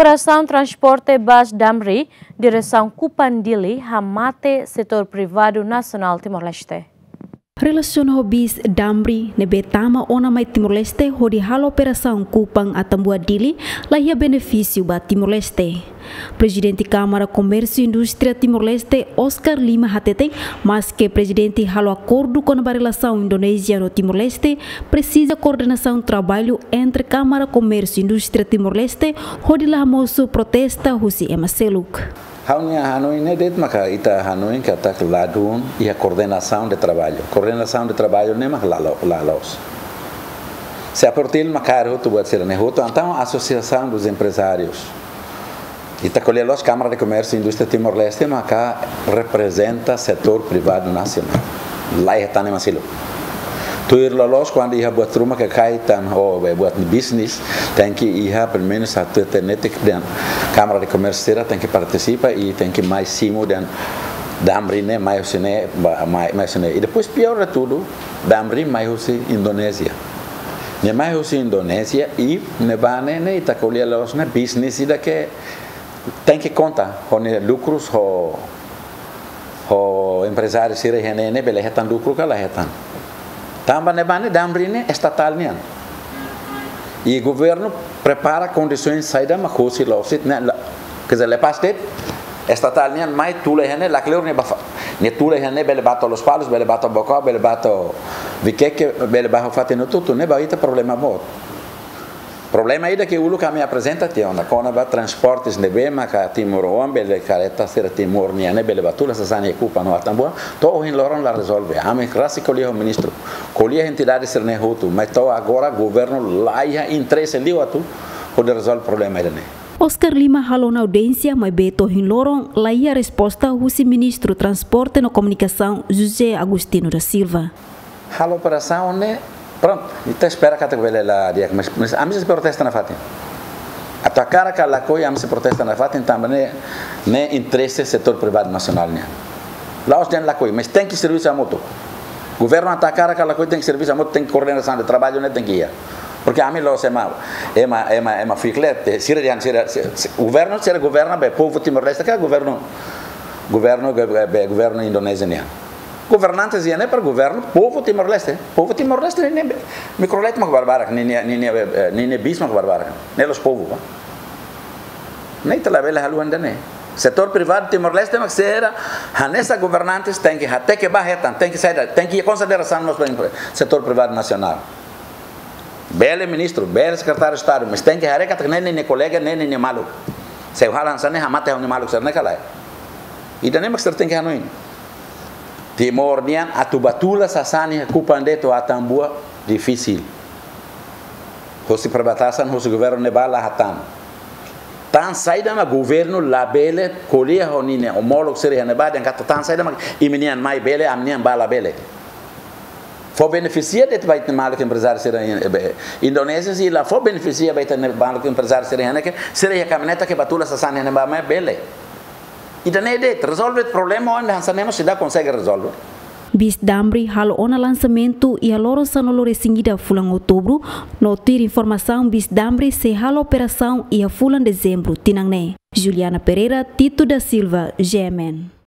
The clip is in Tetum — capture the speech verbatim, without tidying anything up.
Operasaun transporte bus Damri, diresaun Kupang Dili, hamate setór privadu nasionál Timor-Leste. Relasiona ho bus Damri ne'ebé tama ona mai Timor-Leste hodi halo operasaun Kupang Atambua Dili, la iha benefísiu ba Timor-Leste. Prezidente Kámara Komérsiu Indústria Timor-Leste, Oscar Lima, hateten, maske prezidente halo akordu kona-ba relasaun Indonézia no Timor-Leste, presiza koordenasaun traballu entre Kámara Komérsiu Indústria Timor-Leste hodi la hamosu protesta husi ema seluk. Ha'u-nia hanoin ne'e de'it maka ita hanoin katak ladún iha koordenasaun de traballu. Koordenasaun de traballu ne'e maka la lo-, la loos. Se aportil maka hotu buat sira-ne'e hotu, entaun Associação dos Empresários. Ita ko'alia loos Kámara de Komérsiu Indústria Timor-Leste maka reprezenta setór privadu nasionál. La iha tan ema seluk. Tuir loloos kuandu iha buat ruma ke kaitan ho, eh, buat bisnis, tenke iha pelumenus atu tenetik dehan Kámara de Komérsiu sira tenke partisipa i tenke mai simu dehan Damri ne'e mai husi ne'e, ba-, mai, mai husi ne'e. I depois pior de tudu, Damri mai husi Indonézia. Ne'e mai husi Indonézia i ne'ebá ne'e, ne'e ita ko'alia loos ne'e bisnis ida ke tenke konta ho nia lukrus, ho, ho emprezáriu sira iha ne'e ne'e bele hetan lukru ka la hetan. Tanba ne'ebá ne'e Damri ne'e estatál nian. I governu prepara kondisoens saida mak hosi loos ne'e la, quer dizer, lepás de'it estatál nian mai tula iha ne'e, lakleur nia bá fa-, nia tula iha ne'e bele bá to'o Lospalos, bele bá to'o Baucau, bele bá to'o Viqueque, bele bá fatin hotu-hotu, ne'ebá ita problema boot. Problema ida ke uluk ami aprezenta tiha ona kona-ba transportes ne'ebé maka timoroan bele kareta sira Timor nian ne'e bele bá tula sasán iha Kupang no Atambua, to'o ohin loron la rezolve. Ami rasik ko'alia ho ministru, ko'alia ho entidade sira-ne'e hotu, mas to'o agora governu la iha interese liu atu hodi rezolve problema ida-ne'e. Oscar Lima halo ona audiénsia, maibé to'o ohin loron la iha resposta husi Ministru Transporte no Komunikasaun José Agostinho da Silva. Halo operasaun ne'e, prontu, ita espera katak bele la di'ak, mas, mas ami sei protesta nafatin. Atu hakarak ka lakohi, ami sei protesta nafatin, tanba ne'e, ne'e interese setór privadu nasionál nian. La'ós dehan lakohi, mas tenke servisu hamutuk. Governu atu hakarak ka lakohi tenke servisu hamutuk, tenke koordenasaun de traballu ne'e tenke iha. Porque ami la'ós ema, ema, ema, ema fiklet, eh, sira dehan, sira, si-, si-, governu, sira governa be povu Timor-Leste ka governu, governu, be, be, governu Indonézia nian. Governantes iha ne'e para governu povu Timor-Leste. Povu Timor-Leste ne'e, ne'e mikrolet mak barbarak, ne'e, ne'e, ne'e, eh, ne'e, ne'e bis mak barbarak. Ne'e la'ós povu, ba. Ne'e ita labele haluha ida-ne'e. Setór privadu Timor-Leste mak sira hanesan governantes tenke hateke ba hetan, tenke saida, tenke konsiderasaun mós ba setór privadu nasionál. Bele ministru, bele sekretáriu Estadu, mas tenke haree katak ne'e ninia kolega, ne'e ninia maluk. Se ha'u halo hanesan ne'e hamate ha'u-nia maluk sira-ne'e ka lae. Ida-ne'e mak sira tenke hanoin. Timor nian atu bá tula sasán iha Kupang de'it to'o Atambua difisil. Hosi perbatasan, hosi governu ne'ebá la hatán. Tan saida mak governu labele ko'alia ho ninia omólogu sira iha ne'ebá dehan katak tan saida mak imi-nian mai bele, ami-nian bá labele. Fó benefisia de'it ba ita-nia maluk emprezáriu sira iha, eh, be, Indonézia sei la fó benefisia ba ita-nia maluk emprezáriu sira iha ne'e ke, sira iha kamioneta ke bá tula sasán iha ne'ebá mai bele. Ida-ne'e de'it, rezolve problema oan hanesan ne'e mós seidauk konsege rezolve. Bis Damri halo ona lansamentu iha loron sanulu-resin-ida fulan Outubru, no tuir informasaun bis Damri sei halo operasaun iha fulan Dezembru tinan ne'e. Juliana Pereira, Tito da Silva, G M N.